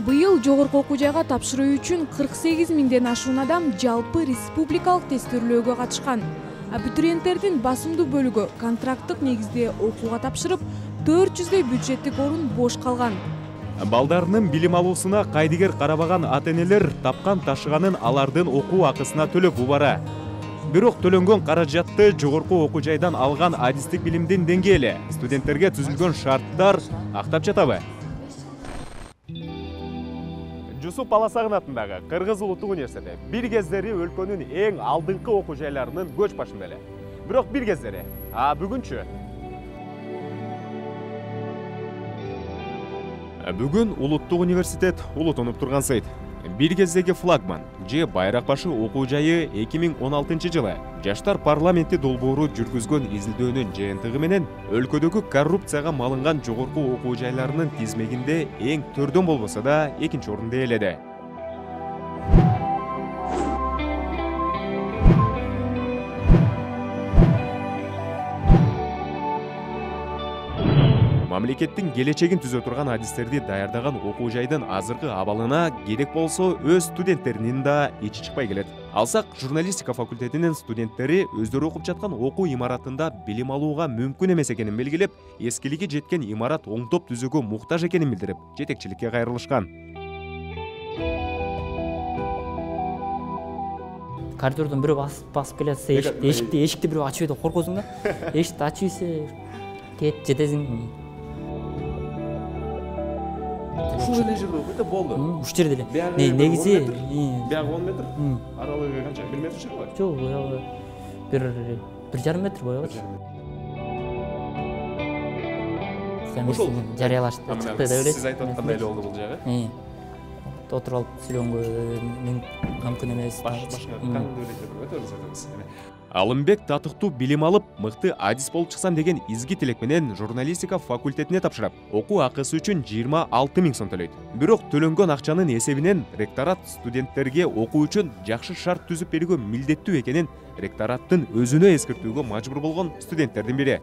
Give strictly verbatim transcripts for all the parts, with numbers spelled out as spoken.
Быйыл жогорку окуу жайга тапшыруу үчүн кырк сегиз миңден ашуун адам жалпы республикалык тестөөлөөгө катышкан. Абитуриенттердин басымдуу бөлүгү контракттык негизде окууга тапшырып, төрт жүздөй бюджеттик орун бош калган. Балдарынын билим алуусуна кайдыгер карабаган ата-энелер тапкан ташыганын алардын окуу акысына төлөп убара. Бирок төлөнгөн каражатты жогорку окуу жайдан алган адистик билимдин деңгээли, студенттерге түзүлгөн шарттар актап жатабы? Жусуп Баласагын атындагы Кыргыз Улуттук университети бир кездери өлкөнүн эң алдыңкы окуу жайларынын көч башында эле. Бирок бир кездери, а бүгүнчү? Бүгүн Улуттук университет улутунуп турган сайт. Бир кездеги флагман же байрак башы окуу жайы эки миң он алтынчы жылы Жаштар парламенти долбоору жүргүзгөн изилдөөнүн жыйынтыгы менен өлкөдөгү коррупцияга малынган жогорку окуу жайларынын тизмегинде эң төрдөн болбосо да экинчи орунду ээледи. Мамлекеттин келечегин түзө турган адистерди даярдаган окуу жайдын азыркы абалына керек болсо өз студенттеринин да ичи чыкпай келет. Алсак, журналистика факультетинин студенттери өздөрү окуп жаткан окуу имаратында билим алууга мүмкүн эмес экенин белгилеп, эскилиги жеткен имарат оңдоп түзүүгө муктаж экенин билдирип, жетекчиликке кайрылышкан. Коридордон бирөө басып келе жатса, эшикти эшикти бирөө ачып деп коркосуң да. Эшикти ачып ийсе, кет жетесиң. Ушул эле жерде окуйт да болду. Ушул жерде эле. Негизи биягы он метр, аралыгы канча? бир метр чыгабы? Жок, буягы бир бир жарым метр боёбу. Ошол жарыялашты, чыкты деп эле. Сиз айтып аткандай эле болду бул жагы. Отуруп алып сүйлөнгө мүмкүн эмес. Башка кандай өтөбүз. Алымбек татыктуу билим алып, мыкты адис болуп чыксам деген изги тилек менен журналистика факультетине тапшырып, окуу акысы үчүн жыйырма алты миң сом төлөйт. Бирок төлөнгөн акчанын эсебинен ректорат студенттерге окуу үчүн жакшы шарт түзүп берүүгө милдеттүү экенин ректораттын өзүнө эскертүүгө мажбур болгон студенттердин бири.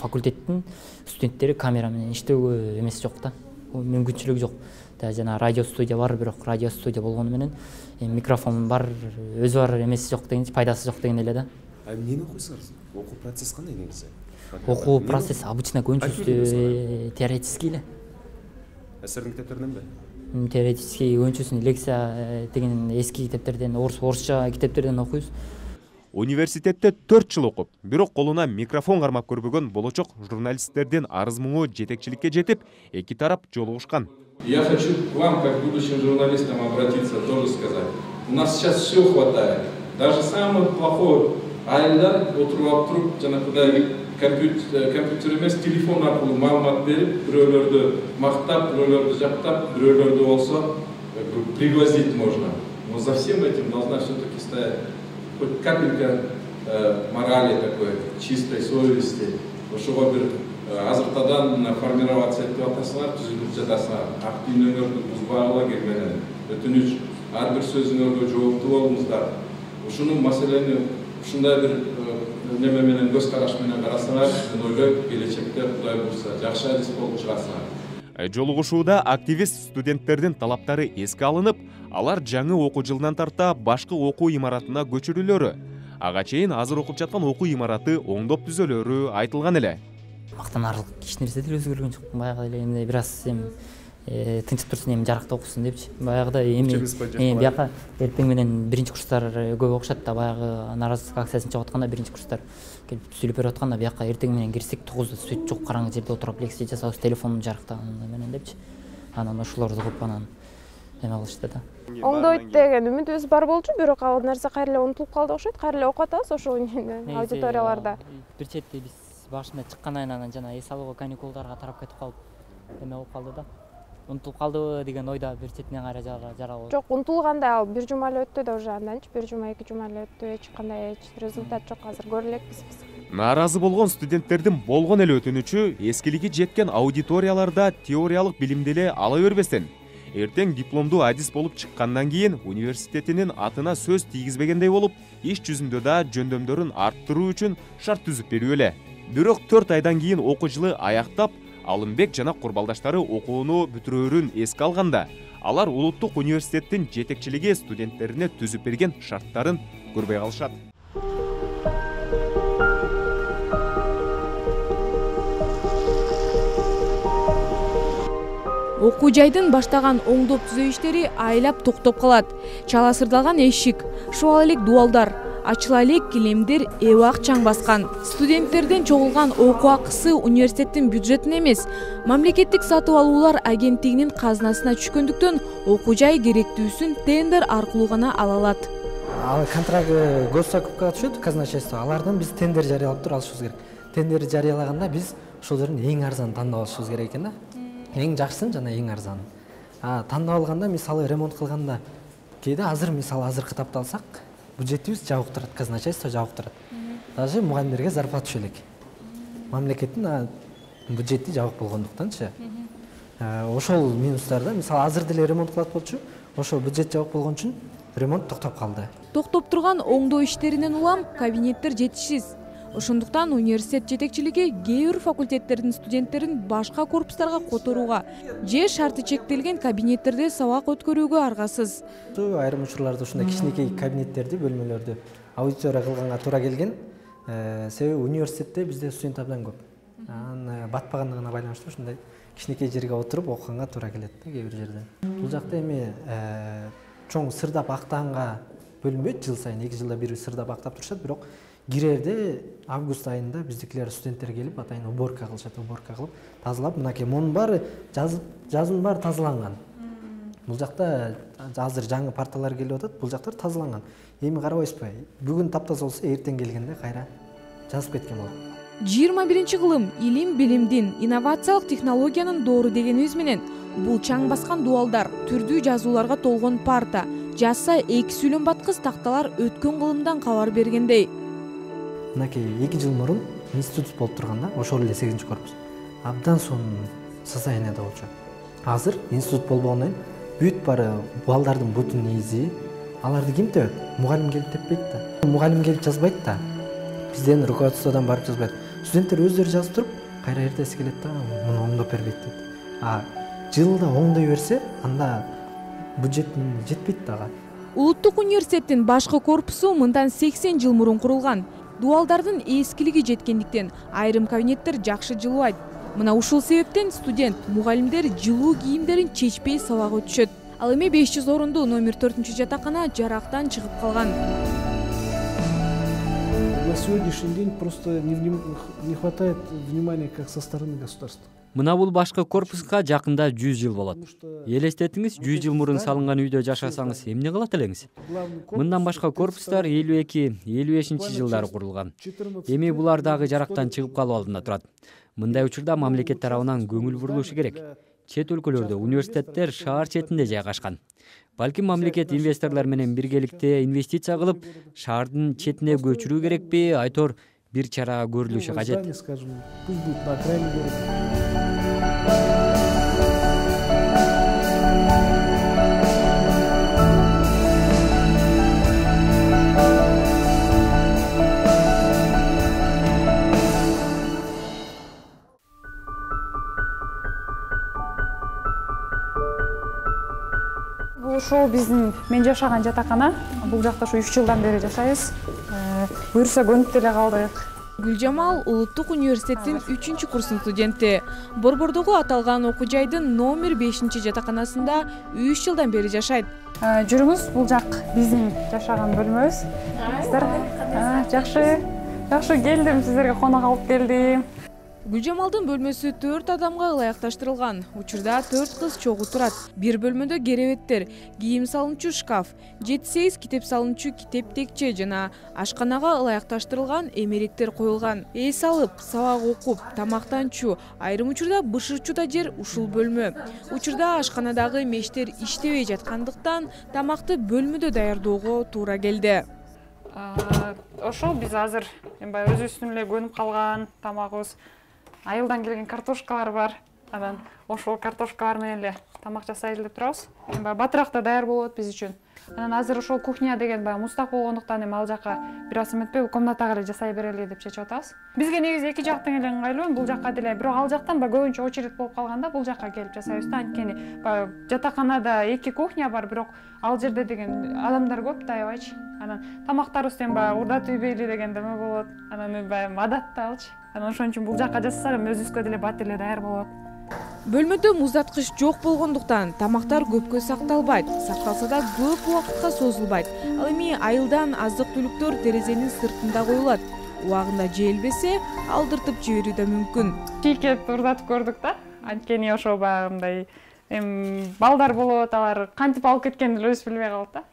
Факультеттин студенттери камера менен иштөөгө эмес жок да. Мүмкүнчүлүгү жок. Жана радио студия бар, бирок радио студия болгону менен микрофон бар, өзү бар эмеси жок дегенчи, пайдасы жок деген эле да. А эмнени окуйсуңар? Окуу процесс кандай негизи? Окуу процесс обычно көбүнчөсү теоретический эле. Силердин китептериненби? Теоретический, көбүнчөсүн лекция деген эски китептерден, орусча китептерден окуйбуз. Университетте төрт жыл окуп, бирок колуна микрофон кармап көрбөгөн болочок журналисттердин арыз-муңу жетекчиликке жетип, эки тарап жолугушкан. Я хочу к вам, как будущим журналистам, обратиться, тоже сказать. У нас сейчас все хватает. Даже самый плохой айылдар отуруп алып туруп, жанагыдай компьютер эмес, телефон аркылуу маалымат берип, бирөөлөрдү мактап, бирөөлөрдү жактап, бирөөлөрдү болсо пригвоздить можно. Но за всем этим должна все-таки стоять хоть капелька морали такой, чистой совести. Ошого бир азыртадан формироваться этип атасыңар, түзүлүп жатасыңар. Ак дүйнөңөрдү бузбагыла келменен, өтүнүч, ар бир сөзүңөргө жооптуу болуңуздар. Ушуну маселени ушундай бир неме менен, көз караш менен карасаңар, мен ойлойм, келечекте Кудай буйрса жакшы адис болуп чыгасыңар. Жолугушууда активист студенттердин талаптары эске алынып, алар жаңы окуу жылынан тарта башкы окуу имаратына көчүрүлөрү, ага чейин азыр окуп жаткан окуу имараты оңдоп түзөлөрү айтылган эле. Мактанарлык эч нерсе деле өзгөргөн жок. Баягы эле эмне бир аз эми тынчып турсун, эми жаракта окусун депчи. Баягыда эми бияка эртең менен биринчи курстар көп окушат да, баягы наразылык акциясын чыгып атканда биринчи курстар келип сүйлөп берип атканда, бияка эртең менен кирсек тогузда свет жок, караңгы жерде отуруп лекция жасабыз, телефонун жарыктаганы менен депчи. Анан ошолорду угуп анан эме кылышты да. Оңдойт деген үмүтүбүз бар болчу, бирок ал нерсе кайра эле унутулуп калды окшойт. Кайра эле окуп атабыз ошол аудиторияларда. Бир чети биз башында чыккандан анан жана эс алууга каникулдарга тарап кетип калып, эме болуп калды да. Унутулуп калдыбы деген ойда бир четинен кайра жаралып. Жок, унутулгандай, ал бир жума эле өттү да уже анданчы, бир жума, эки жума эле өттү, эч кандай эч результат жок, азыр көрө элекпиз биз. Нааразы болгон студенттердин болгон эле өтүнүчү эскилиги жеткен аудиторияларда теориялык билимди эле ала бербестен, эртең дипломдуу адис болуп чыккандан кийин университетинин атына сөз тийгизбегендей болуп, иш жүзүндө да жөндөмдөрүн арттыруу үчүн шарт түзүп берүү эле. Бирок төрт айдан кийин окуу жылы аяктап, Алымбек жана курбалдаштары окууну бүтүрөөрүн эске алганда, Алар улуттук университеттин жетекчилиги студенттерине түзүп берген шарттарын көрбөй калышат. Окуу жайдын баштаган оңдоп түзөө иштери айлап токтоп калат. Чала сырдалган эшик, шуал элек дуалдар, ачыла элек килемдер эбак чаң баскан. Студенттерден чогулган окуу акысы университеттин бюджетине эмес, мамлекеттик сатып алуулар агенттигинин казынасына түшкөндүктөн окуу жай керектүүсүн тендер аркылуу гана ала алат. Ал контракт госзакупкага түшөт казначейство. Алардан биз тендер жарыялап туруп алышыбыз керек. Тендер жарыялаганда биз ошол жерден эң арзанын тандап алышыбыз керек экен да. Эң жакшысын жана эң арзанын. А тандап алганда мисалы ремонт кылганда кээде азыр мисалы азыркы тапты алсак, бюджетибиз жабык турат, казначейство жабык турат. Даже мугалимдерге зарплата түшө элек. Мамлекеттин бюджети жабык болгондуктанчы. Ошол минустарда мисалы азыр деле ремонт кылат болчу, ошол бюджет жабык болгон үчүн ремонт токтоп калды. Токтоп турган оңдоо иштеринен улам кабинеттер жетишсиз. Ошондуктан университет жетекчилиги кээ бир факультеттердин студенттерин башка корпустарга которууга же шарты чектелген кабинеттерде сабак өткөрүүгө аргасыз. Айрым учурларда ушундай кичинекей кабинеттерди, бөлмөлөрдү аудитория кылганга туура келген. Себеби университетте бизде студент абдан көп. Анын батпагандыгына байланыштуу ушундай кичинекей жерге отуруп окуганга туура келет да кээ бир жерде. Бул жакта эми чоң сырдап актаганга бөлүнбөйт, жыл сайын эки жылда бир сырдап актап турушат, бирок кирерде август айында биздикилер студенттер келип атайын уборка кылышат, уборка кылып, тазалап, мынакей монун баары жазып, жазын баары тазаланган. Бул жакта азыр жаңы парталар келип атат, бул жактар тазаланган. Эми карабайсызбы? Бүгүн таптаза болсо, эртең келгенде кайра жазып кеткен болот. жыйырма биринчи кылым илим билимдин, инновациялык технологиянын доору дегенибиз менен бул чаң баскан дуалдар, түрдүү жазууларга толгон парта, жазса эки сүйлөм баткыс такталар өткөн кылымдан кабар бергендей. Мынакей эки жыл мурун институт болуп турганда, ошол эле сегизинчи корпус абдан сонун состоянияда болчу. Азыр институт болбогондон кийин бүт баары балдардын бутун изи, аларды ким тебет? Мугалим келип теппейт да. Мугалим келип жазбайт да. Бизден руководстводон барып жазбайт. Студенттер өздөрү жазып туруп, кайра эртеси келет да, муну оңдоп бербейт дейт. А жылда оңдой берсе, анда бюджет жетпейт дагы. Улуттук университеттин башкы корпусу мындан сексен жыл мурун курулган. Дуалдардын эскилиги жеткендиктен айрым кабинеттер жакшы жылыбайт. Мына ушул себептен студент, мугалимдер жылуу кийимдерин чечпей сабак өтүшөт. Ал эми беш жүз орундуу номер төртүнчү жатакана жарактан чыгып калган. На сегодняшний день просто не хватает внимания как со стороны государства. Мына бул башкы корпуска жакында жүз жыл болот. Элестетиңиз, жүз жыл мурун салынган үйдө жашасаңыз эмне кылат элеңиз? Мындан башка корпустар элүү эки элүү бешинчи жылдары курулган. Эми булар дагы жарактан чыгып калуу алдында турат. Мындай учурда мамлекет тарабынан көңүл бурулушу керек. Чет өлкөлөрдө университеттер шаар четинде жайгашкан. Балким мамлекет инвесторлор менен биргеликте инвестиция кылып, шаардын четине көчүрүү керекпи, айтор бир чара көрүлүшү кажет. Ушул биздин мен жашаган жатакана. Бул жакта ушу үч жылдан бери жашайбыз. Буюрса көнүп деле калдык. Гүлжамал улуттук университеттин үчүнчү курсунун студенти. Борбордогу аталган окуу жайдын номер бешинчи жатаканасында үч жылдан бери жашайт. Жүрүңүз, бул жак биздин жашаган бөлмөбүз. Сиздер жакшы, жакшы келдим, сиздерге конок алып келдим. Гүлжамалдын бөлмөсү төрт адамга ылайыкташтырылган. Учурда төрт кыз чогуу турат. Бир бөлмөдө керебеттер, кийим салынчу шкаф, жети сегиз китеп салынчу китеп текче жана ашканага ылайыкташтырылган эмеректер коюлган. Эс алып, сабак окуп, тамактанчу, айрым учурда бышырчу да жер ушул бөлмө. Учурда ашканадагы мештер иштебей жаткандыктан тамакты бөлмөдө даярдоого туура келди. Ошол биз азыр баягы өзүбүздүн эле көнүп калган тамагыбыз. Айылдан келген картошкалар бар. Анан ошол картошкалар менен эле тамак жасайлы деп турабыз. Эми батырак да даяр болот биз үчүн. Анан азыр ошол кухня деген баягы муздак болгондуктан эми ал жака бир аз эметпей комнатага эле жасай берели деп чечип атабыз. Бизге негизи эки жактың эле ыңгайлуу, бул жакка деле, бирок ал жактан баягы көбүнчө очередь болуп калганда бул жакка келип жасайбыз да. Анткени баягы жатаканада эки кухня бар, бирок ал жерде деген адамдар көп да, аябайчы. Анан тамактарыбыз эми баягы урда тийбейли деген деме болот. Анан баягы адат да алчы. Анан ошон үчүн бул жакка жасаса эми өзүбүзгө деле бат эле даяр болот. Бөлмөдө муздаткыч жок болгондуктан тамактар көпкө сакталбайт, сакталса да көп убакытка созулбайт. Ал эми айылдан аздык-түлүктөр терезенин сыртында коюлат. Убагында жейлбесе, алдыртып жиберүү да мүмкүн. Чийкеп урдатып көрдүк да. Анткени ошо баягындай эми балдар болот, алар кантип алып кеткенин деле өзү билбей калат да.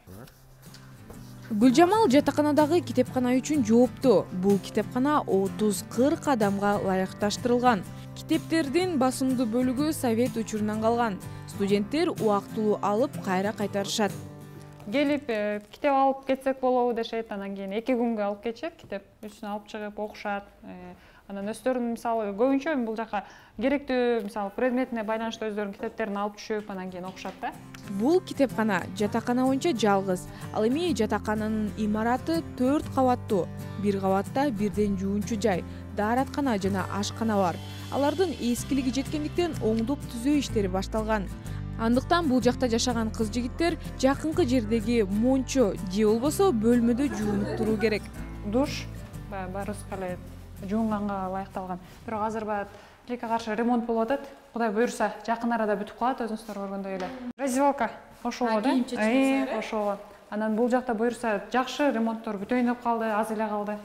Гүлжамал жатаканадагы китепкана үчүн жооптуу. Бул китепкана отуз кырк адамга ылайыкташтырылган. Китептердин басымдуу бөлүгү совет учурунан калган. Студенттер убактылуу алып кайра кайтарышат. Келип китеп алып кетсек болобу дешет, анан кийин эки күнгө алып кетишет, китеп үчүн алып чыгып окушат. Анан өздөрүнүн мисалы көбүнчө бул жака керектүү мисалы предметине байланыштуу өздөрүнүн китептерин алып түшүп, анан кийин окушат да. Бул китепкана жатакана боюнча жалгыз. Ал эми жатакананын имараты төрт кабаттуу. Бир кабатта бирден жуунчу жай, даараткана жана ашкана бар. Алардын эскилиги жеткендиктен оңдоп түзөө иштери башталган. Андыктан бул жакта жашаган кыз-жигиттер жакынкы жердеги мончо же болбосо бөлмөдө жуунуп туруу керек. Душ баарыбызга эле жуунганга ылайыкталган. Бирок азыр баягы тилекке каршы ремонт болуп атат. Кудай буюрса, жакын арада бүтүп калат, өзүңүздөр көргөндөй эле. Раздевалка ошого да. Ошого. Анан бул жакта буюрса, жакшы ремонттор бүтөйүн деп калды, аз эле калды.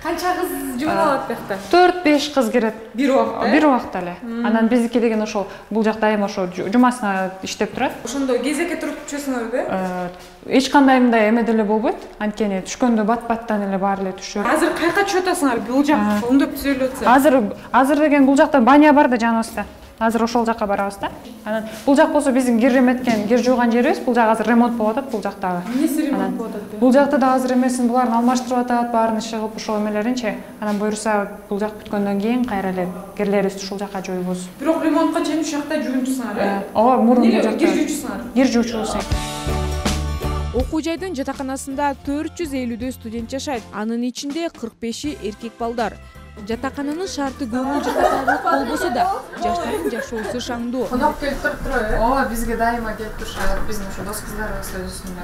Канча кыз жуун алат бияқта? төрт беш кыз кирет. Бир убакта? Бир убакта эле. Анан биздики деген ошол бул жакта эми ошо жумасына иштеп турат. Ошондо кезекке туруп түшөсүңөрбү? Эч кандай мындай эме деле болбойт. Анткени түшкөндө бат-баттан эле баары эле түшөт. Азыр кайка түшүп атасыңар? Бул жак оңдоп түзөлүп атса. Азыр азыр деген бул жакта баня бар да жаныбызда. Азыр ошол жакка барабыз да. Анан бул жак болсо биздин кир эметкен, кир жууган жерибиз. Бул жак азыр ремонт болуп атат бул жактагы. Эмнеси ремонт болуп атат? Бул жакта да азыр эмесин буларын алмаштырып атат, баарын иши кылып ошол эмелеринчи. Анан буюрса бул жак бүткөндөн кийин кайра эле кирлерибизди ушул жакка жоюбуз. Бирок ремонтка чейин ушул жакта жуунчусуңар, э? Ооба, мурун бул жакта. Кир жуучусуңар? Кир жуучубуз. Окуу жайдын жатаканасында төрт жүз элүүдөй студент жашайт. Анын ичинде кырк беши эркек балдар. Жатакананын шарты көңүл жатакандык болбосо да, жаштардын жашоосу шаңдуу. Конок келип туруптур, э? Ооба, бизге дайыма келип турушат. Биздин ошо дос кыздарыбыз өзүсүндө.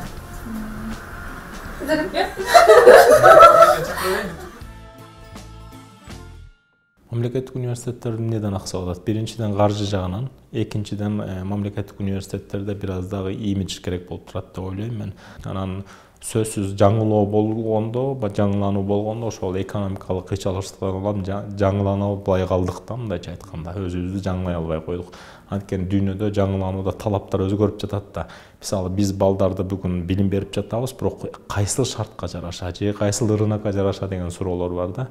Мамлекеттик университеттер эмнеден аксап атат? Биринчиден каржы жагынан, экинчиден мамлекеттик университеттерде бир аз дагы имидж керек болуп турат деп ойлойм мен. Анан сөзсүз жаңылоо болгондо, жаңылануу болгондо ошол экономикалык кыйчалыштардан улам жаңылана албай калдык да, мындайча айтканда, өзүбүздү жаңылай албай койдук. Анткени дүйнөдө жаңыланууда талаптар өзгөрүп жатат да. Мисалы биз балдарды бүгүн билим берип жатабыз, бирок кайсыл шартка жараша же кайсыл рынокко жараша деген суроолор бар да.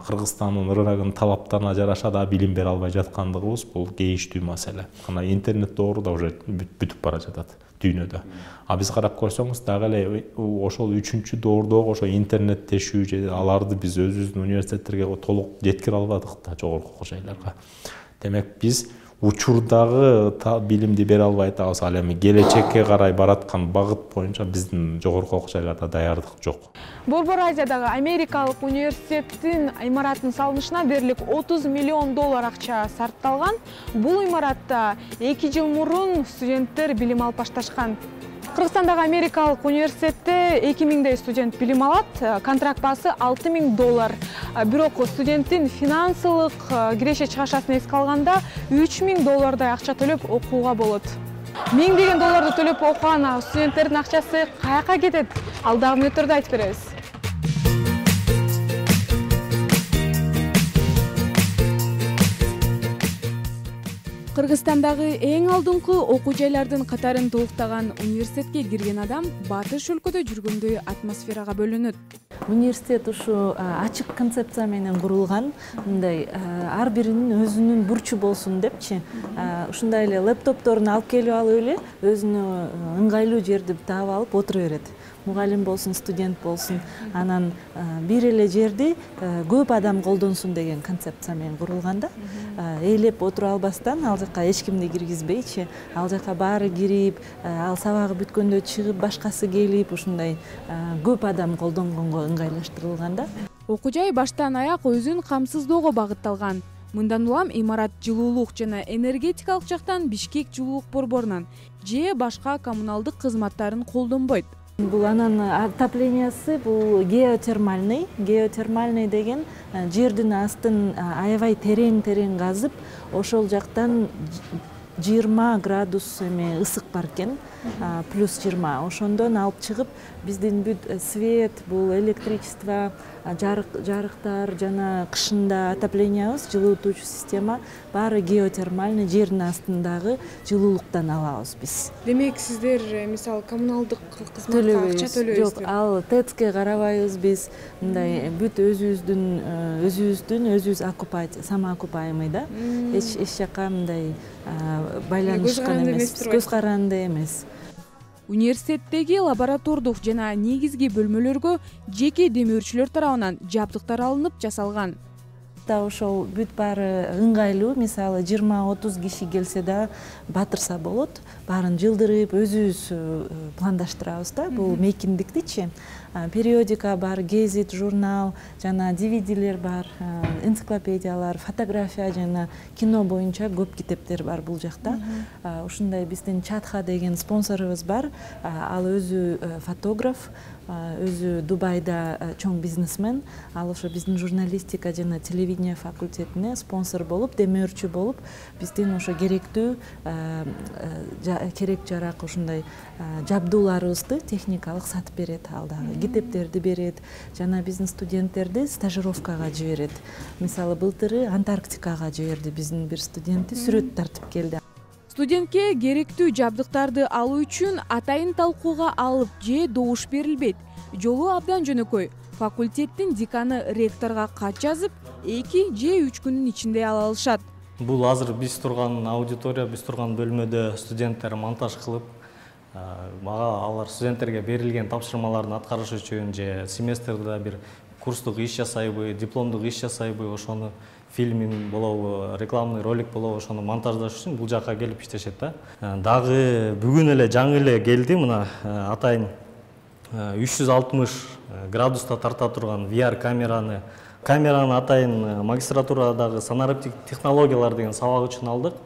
Кыргызстандын рыногунун талаптарына жараша да билим бере албай жаткандыгыбыз бул кейиштүү маселе. Ана интернет доору да уже бүтүп бара жатат дүйнөдө. А биз карап көрсөңүз дагы эле ошол үчүнчү доордогу ошо интернеттешүү же аларды биз өзүбүздүн университеттерге толук жеткире албадык да, жогорку окуу жайларга. Демек биз учурдагы билимди бере албай атабыз, ал эми келечекке карай бараткан багыт боюнча биздин жогорку окуу жайларда даярдык жок. Борбор Азиядагы Америкалык университеттин имараттын салынышына дээрлик отуз миллион доллар акча сарпталган. Бул имаратта эки жыл мурун студенттер билим алып башташкан. Кыргызстандагы Америкалык университетте эки миңдей студент билим алат. Контракт баасы алты миң доллар. Бирок студенттин финансылык киреше чыгашасын эске алганда үч миң доллардай акча төлөп окууга болот. Миңдеген долларды төлөп окуган студенттердин акчасы каяка кетет? Алдагы мүнөттөрдө айтып беребиз. Кыргызстандагы эң алдыңкы окуу жайлардын катарын толуктаган университетке кирген адам батыш өлкөдө жүргөндөй атмосферага бөлөнөт. Университет ушу ачык концепция менен курулган, мындай ар биринин өзүнүн бурчу болсун депчи. Ушундай эле лэптопторун алып келип алып эле өзүнө ыңгайлуу жерди таап алып отура берет. мугалим болсун, студент болсун, анан бир эле жерди көп адам колдонсун деген концепция менен курулган да. Ээлеп отура албастан ал жака эч кимди киргизбейчи, ал жака баары кирип, ал сабагы бүткөндө чыгып, башкасы келип, ушундай көп адам колдонгонго ыңгайлаштырылган да. Окуу жай баштан аяк өзүн камсыздоого багытталган. Мындан улам имарат жылуулук жана энергетикалык жактан Бишкек жылуулук борборунан же башка коммуналдык кызматтарын колдонбойт. Бул анан отоплениясы бул геотермальный. Геотермальный деген жердин астын аябай терең-терең казып, ошол жактан жыйырма градус эме ысык бар экен, плюс жыйырма. Ошондон алып чыгып, биздин бүт свет, бул электричество, жарыктар жана кышында отоплениябыз, жылытуучу система баары геотермальный, жердин астындагы жылуулуктан алабыз биз. Демек, сиздер мисалы коммуналдык кызматка акча төлөйсүздөр? Жок, ал ТЭЦке карабайбыз биз. Мындай бүт өзүбүздүн өзүбүздүн өзүбүз оккупация, самоокупаемый да. Эч эч жака мындай байланышкан эмес, көз каранды эмес. Университеттеги лаборатордук жана негизги бөлмөлөргө жеке демөөрчүлөр тарабынан жабдыктар алынып жасалган. Ошол бүт баары ыңгайлуу, мисалы жыйырма отуз киши келсе да батырса болот, баарын жылдырып өзүбүз пландаштырабыз да, бул мейкиндиктичи. Периодика бар, гезит, журнал, жана ди ви дилер бар, энциклопедиялар, фотография жана кино боюнча көп китептер бар бул жакта. Ушундай биздин Чатха деген спонсорубуз бар, ал өзү фотограф, өзү Дубайда чоң бизнесмен, ал ошо биздин журналистика жана телевидение факультетине спонсор болуп, демөөрчү болуп, биздин ошо керектүү керек жарак ушундай жабдууларыбызды техникалык сатып берет, ал дагы китептерди берет, жана биздин студенттерди стажировкага жиберет. Мисалы былтыры Антарктикага жиберди биздин бир студентти, сүрөт тартып келди. Студентке керектүү жабдыктарды алуу үчүн атайын талкууга алып же добуш берилбейт. Жолу абдан жөнөкөй. Факультеттин деканы ректорго кат жазып, эки же үч күнүн ичинде ала алышат. Бул азыр биз турган аудитория, биз турган бөлмөдө студенттер монтаж кылып, мага алар студенттерге берилген тапшырмаларды аткарыш үчүн же семестрде бир курстук иш жасайбы, дипломдук иш жасайбы, ошону фильм болобу, рекламный ролик болобу, ошону монтаждаш үчүн бул жака келип иштешет да. Дагы бүгүн эле жаңы эле келди, мына атайын үч жүз алтымыш градуста тарта турган ви ар камераны, камераны атайын магистратурадагы санариптик технологиялар деген сабак үчүн алдык.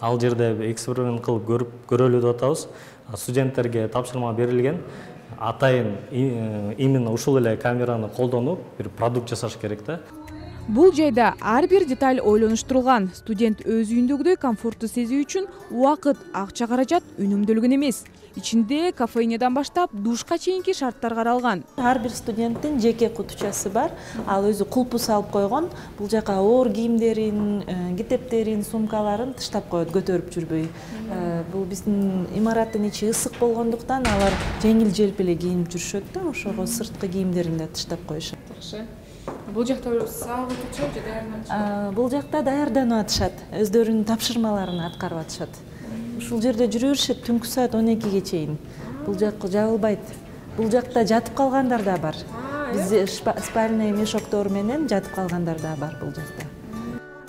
Ал жерде эксперимент кылып көрүп көрөлү деп атабыз. Студенттерге тапшырма берилген. Атайын именно ушул эле камераны колдонуп, бир продукт жасаш керек да. Бул жайда ар бир деталь ойлонуштурулган. Студент өз үйүндөгүдөй комфортту сезүү үчүн убакыт, акча каражат үнөмдөлгөн эмес. Ичинде кофейнядан баштап душка чейинки шарттар каралган. Ар бир студенттин жеке кутучасы бар. Ал өзү кулпу салып койгон. Бул жака оор кийимдерин, китептерин, сумкаларын таштап коет, көтөрүп жүрбөй. Бул биздин имараттын ичи ысык болгондуктан алар жеңил-желп эле кийинип жүрүшөт да, ошого сырткы кийимдерин да таштап коюшат. Бул жакта сабак өтүшөт же даярданып атышат? Бул жакта даярданып атышат, өздөрүнүн тапшырмаларын аткарып атышат. Ушул жерде жүрө беришет түнкү саат он экиге чейин. Бул жак жабылбайт. Бул жакта жатып калгандар да бар. Бизде спальный мешоктор менен жатып калгандар да бар бул жакта.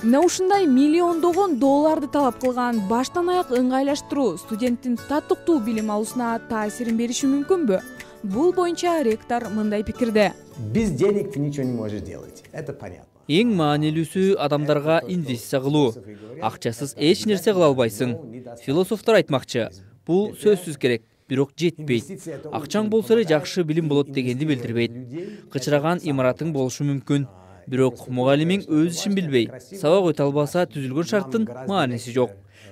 Мына ушундай миллиондогон долларды талап кылган баштан аяк ыңгайлаштыруу студенттин татыктуу билим алуусуна таасирин бериши мүмкүнбү? Бул боюнча ректор мындай пикирде. Без денег ты ничего не можешь делать. Это понятно. Эң маанилүүсү адамдарга инвестиция кылуу. Акчасыз эч нерсе кыла албайсың. Философтор айтмакчы, бул сөзсүз керек, бирок жетпейт. Акчаң болсо эле жакшы билим болот дегенди билдирбейт. Кычыраган имаратың болушу мүмкүн, бирок мугалимиң өз ишин билбей, сабак өтө албаса түзүлгөн шарттын мааниси жок.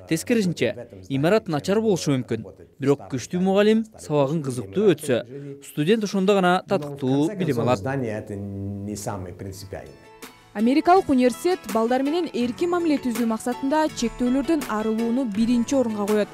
Тескерисинче, имарат начар болушу мүмкүн, бирок күчтүү мугалим сабагын кызыктуу өтсө, студент ошондо гана татыктуу билим алат. Америкалык университет балдар менен эркин мамиле түзүү максатында чектөөлөрдөн арылууну биринчи орунга коет.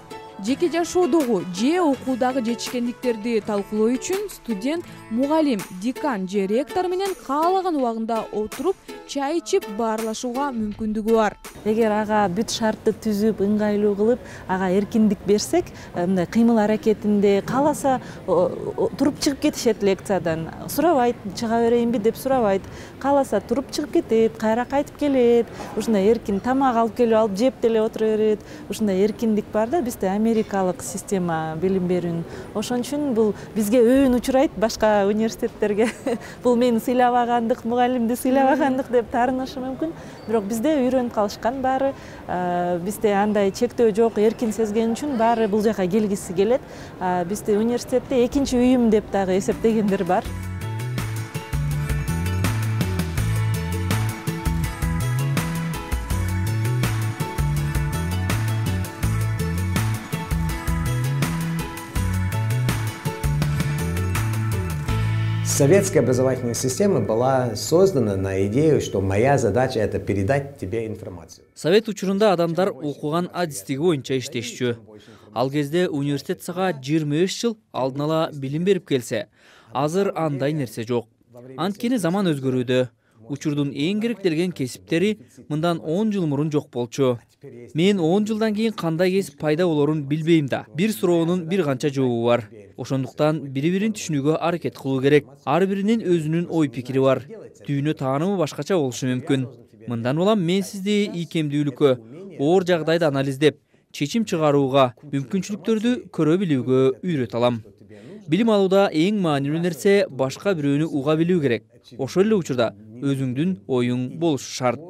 жеке жашоодогу же окуудагы жетишкендиктерди талкуулоо үчүн студент мугалим, декан же ректор менен каалаган убагында отуруп чай ичип баарлашууга мүмкүндүгү бар. Эгер ага бүт шартты түзүп, ыңгайлуу кылып, ага эркиндик берсек, мындай кыймыл аракетинде кааласа туруп чыгып кетишет лекциядан. Сурабайт, чыга берейинби деп сурабайт. Кааласа туруп чыгып кетет, кайра кайтып келет. Ушундай эркин тамак алып келип алып жеп деле отура берет. Ушундай эркиндик бар да бизде америкалык система билим берүүнүн. Ошон үчүн бул бизге өйүн учурайт башка университеттерге. Бул мени сыйлабагандык, мугалимди сыйлабагандык деп таарынышы мүмкүн. Бирок бизде үйрөнүп калышкан баары. Бизде андай чектөө жок, эркин сезген үчүн баары бул жака келгиси келет. Бизде университетте экинчи үйүм деп дагы эсептегендер бар. Советская образовательная система была создана на идею, что моя задача это передать тебе информацию. Совет учурунда адамдар окуган адистиги боюнча иштешчү. Ал кезде университет сага жыйырма беш жыл алдын ала билим берип келсе, азыр андай нерсе жок. Анткени заман өзгөрүүдө. Учурдун эң керектелген кесиптери мындан он жыл мурун жок болчу. Мен он жылдан кийин кандай кесип пайда болорун билбейм да. Бир суроонун бир канча жообу бар. Ошондуктан бири-бирин түшүнүүгө аракет кылуу керек. Ар биринин өзүнүн ой пикири бар. Дүйнө таанымы башкача болушу мүмкүн. Мындан улам мен сизди ийкемдүүлүккө, оор жагдайды анализдеп, чечим чыгарууга, мүмкүнчүлүктөрдү көрө билүүгө үйрөтө алам. Билим алууда эң маанилүү нерсе башка бирөөнү уга билүү керек. Ошол эле учурда өзүңдүн оюң болушу шарт.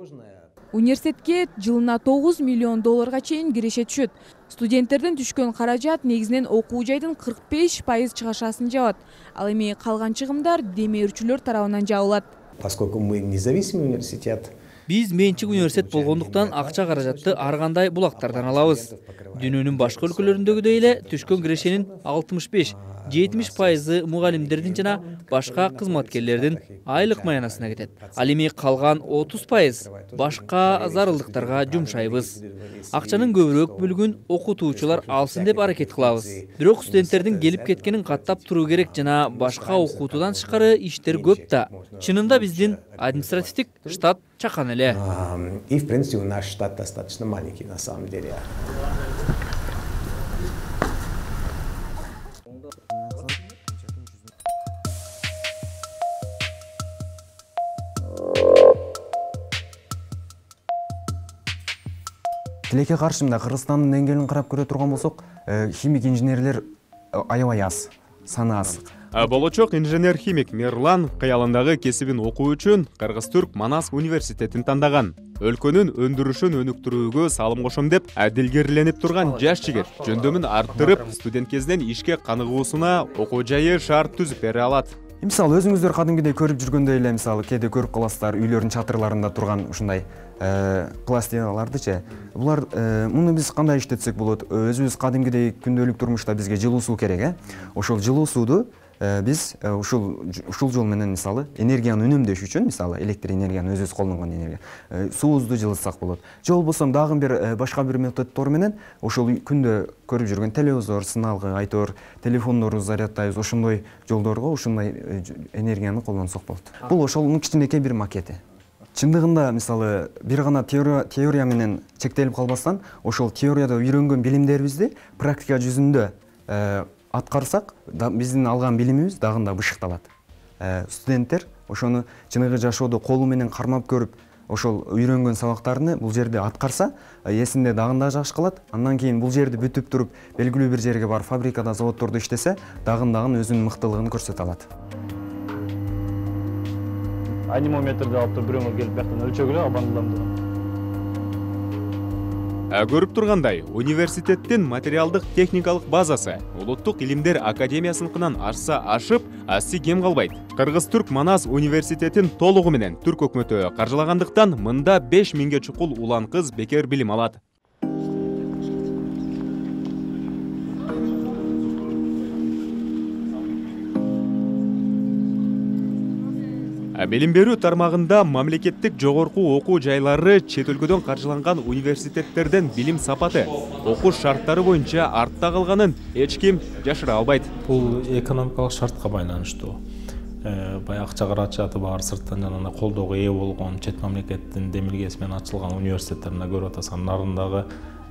Университетке жылына тогуз миллион долларга чейин киреше түшөт. Студенттерден түшкөн каражат негизинен окуу жайдын кырк беш пайыз чыгашасын жабат. Ал эми калган чыгымдар демөөрчүлөр тарабынан жабылат. Поскольку мы независимый университет, биз менчик университет болгондуктан акча каражатты ар кандай булактардан алабыз. Дүйнөнүн башка өлкөлөрүндөгүдөй эле түшкөн кирешенин алтымыш беш жетимиш пайызы мугалимдердин жана башка кызматкерлердин айлык маянасына кетет. Ал эми калган отуз пайыз башка зарылдыктарга жумшайбыз. Акчанын көбүрөөк бөлүгүн окутуучулар алсын деп аракет кылабыз. Бирок студенттердин келип кеткенин каттап туруу керек жана башка окутуудан тышкары иштер көп да. Чынында биздин административдик штат чакан эле. И в принципе наш штат достаточно маленький на самом деле. Тилекке каршы мында Кыргызстандын деңгээлин карап көрө турган болсок, химик инженерлер аябай аз, саны аз. Болочок инженер-химик Мерлан кыялындагы кесибин окуу үчүн Кыргыз-Түрк Манас университетин тандаган. Өлкөнүн өндүрүшүн өнүктүрүүгө салым кошом деп адилгерленип турган жаш жигит жөндөмүн арттырып, студент кезинен ишке каныгуусуна окуу жайы шарт түзүп бере алат. Мисалы өзүңүздөр кадимкидей көрүп жүргөндөй эле, мисалы кээде көрүп каласыздар үйлөрдүн чатырларында турган ушундай пластиналардычы. Булар муну биз кандай иштетсек болот? Өзүбүз кадимкидей күндөлүк турмушта бизге жылуу суу керек, э? Ошол жылуу сууду биз ушул ушул жол менен мисалы энергияны үнөмдөш үчүн, мисалы электр энергияны өзүбүз колдонгон энергия, суубузду жылытсак болот. Же болбосо дагы бир башка бир методдор менен ошол күндө көрүп жүргөн телевизор, сыналгы, айтор, телефондорубузду заряддайбыз, ошондой жолдорго ушундай энергияны колдонсок болот. Бул ошонун кичинекей бир макети. Чындыгында мисалы бир гана теория менен чектелип калбастан, ошол теорияда үйрөнгөн билимдерибизди практика жүзүндө аткарсак, биздин алган билимибиз дагы да бышыкталат. Студенттер ошону чыныгы жашоодо колу менен кармап көрүп, ошол үйрөнгөн сабактарны бул жерде аткарса, эсинде дагы да жакшы калат. Андан кийин бул жерди бүтүп туруп, белгилүү бир жерге барып фабрикада, заводдордо иштесе, дагы дагы өзүнүн мыктылыгын көрсөтө алат. Анимометрди алып туруп бирөөгө келип бияктан өлчөгүлө абандыламды. Көрүп тургандай, университеттин материалдык техникалык базасы Улуттук илимдер академиясыныкынан ашса ашып, асси кем калбайт. Кыргыз-Түрк Манас университетин толугу менен түрк өкмөтү каржылагандыктан мында беш миңге чукул улан кыз бекер билим алат. Билим берүү тармагында мамлекеттик жогорку окуу жайлары чет өлкөдөн каржыланган университеттерден билим сапаты, окуу шарттары боюнча артта калганын эч ким жашыра албайт. Бул экономикалык шартка байланыштуу. Баягы акча каражаты бар, сырттан жанагындай колдоого ээ болгон чет мамлекеттин демилгеси менен ачылган университеттерине көрүп атасың. Нарындагы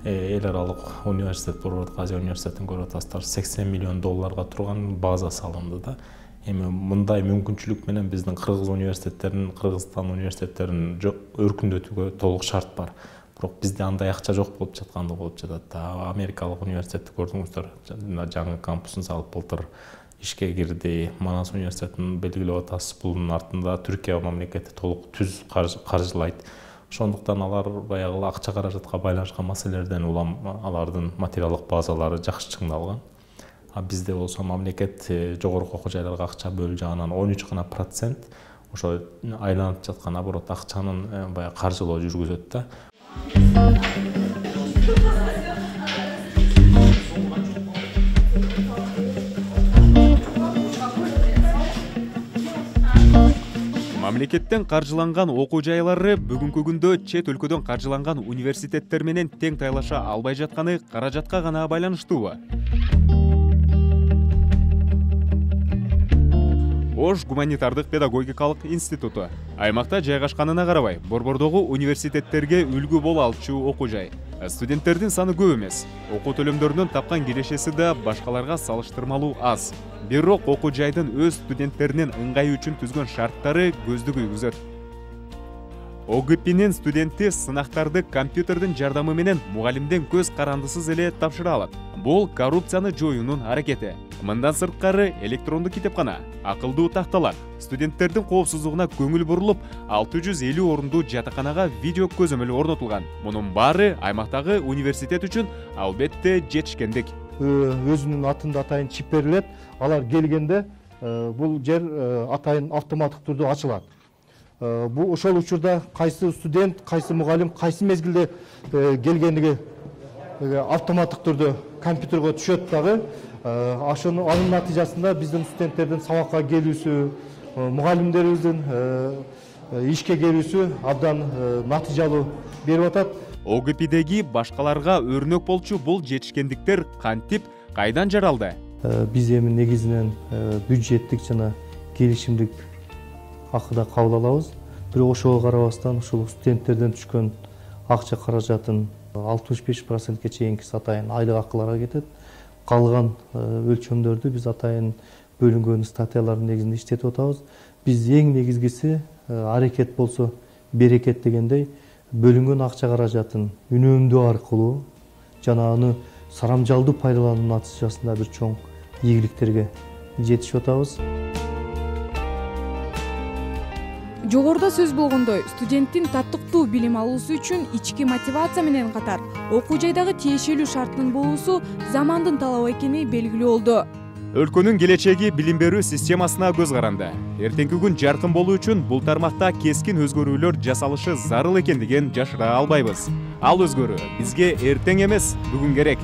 эл аралык университет болуп атат, Азия университетин көрүп атасыздар, сексен миллион долларга турган база салынды да. Эми мындай мүмкүнчүлүк менен биздин кыргыз университеттерин, Кыргызстан университеттерин өркүндөтүүгө толук шарт бар. Бирок бизде андай акча жок болуп жатканды болуп жатат да. Америкалык университетти көрдүңүздөр, жаңы кампусун салып былтыр ишке кирди. Манас университетин белгилеп атасыз, бунун артында Түркия мамлекети толук түз каржылайт. Ошондуктан алар баягы акча каражатка байланышкан маселелерден улам алардын материалдык базалары жакшы чыңдалган. А бизде болсо мамлекет жогорку окуу жайларга акча бөлүү жагынан он үч гана процент ошо айланып жаткан оборот акчанын баягы каржылоо жүргүзөт да. Мамлекеттен каржыланган окуу жайлары бүгүнкү күндө чет өлкөдөн каржыланган университеттер менен тең тайлаша албай жатканы каражатка гана байланыштуубу? Ош гуманитардык педагогикалык институту аймакта жайгашканына карабай, борбордогу университеттерге үлгү боло алчу окуу жай. Студенттердин саны көп эмес, окуу төлөмдөрүнөн тапкан кирешеси да башкаларга салыштырмалуу аз. Бирок окуу жайдын өз студенттеринин ыңгайы үчүн түзгөн шарттары көздү күйгүзөт. О Г П'нин студенти сынактарды компьютердин жардамы менен мугалимден көз карандысыз эле тапшыра алат. Бул коррупцияны жоюунун аракети. Мындан сырткары электрондук китепкана, акылдуу такталар, студенттердин коопсуздугуна көңүл бурулуп, алты жүз элүү орундуу жатаканага видео көзөмөл орнотулган. Мунун баары аймактагы университет үчүн албетте жетишкендик. Өзүнүн атында атайын чип берилет. Алар келгенде бул жер атайын автоматтык түрдө ачылат. Бул ошол учурда кайсы студент, кайсы мугалим, кайсы мезгилде келгендиги автоматтык түрдө компьютерге түшөт дагы. Ошонун анын натыйжасында биздин студенттердин сабакка келүүсү, мугалимдерибиздин ишке келүүсү абдан натыйжалуу берип атат. О Г П'деги башкаларга өрнөк болчу бул жетишкендиктер кантип, кайдан жаралды? Биз эми негизинен бюджеттик жана келишимдик акыда кабыл алабыз. Бирок ошого карабастан ушул студенттерден түшкөн акча каражатын алтымыш беш процентке чейинкиси атайын айлык акыларга кетет. Калган өлчөмдөрдү биз атайын бөлүнгөн статьялардын негизинде иштетип атабыз. Биз эң негизгиси аракет болсо берекет дегендей бөлүнгөн акча каражатын үнөмдөө аркылуу жана аны сарамжалдуу пайдалануу натыйжасында бир чоң ийгиликтерге жетишип атабыз. Жогоруда сөз болгондой, студенттин татыктуу билим алуусу үчүн ички мотивация менен катар окуу жайдагы тиешелүү шарттын болуусу замандын талабы экени белгилүү болду. Өлкөнүн келечеги билим берүү системасына көз каранды. Эртеңки күн жаркын болуу үчүн бул тармакта кескин өзгөрүүлөр жасалышы зарыл экендигин жашыра албайбыз. Ал өзгөрүү бизге эртең эмес, бүгүн керек.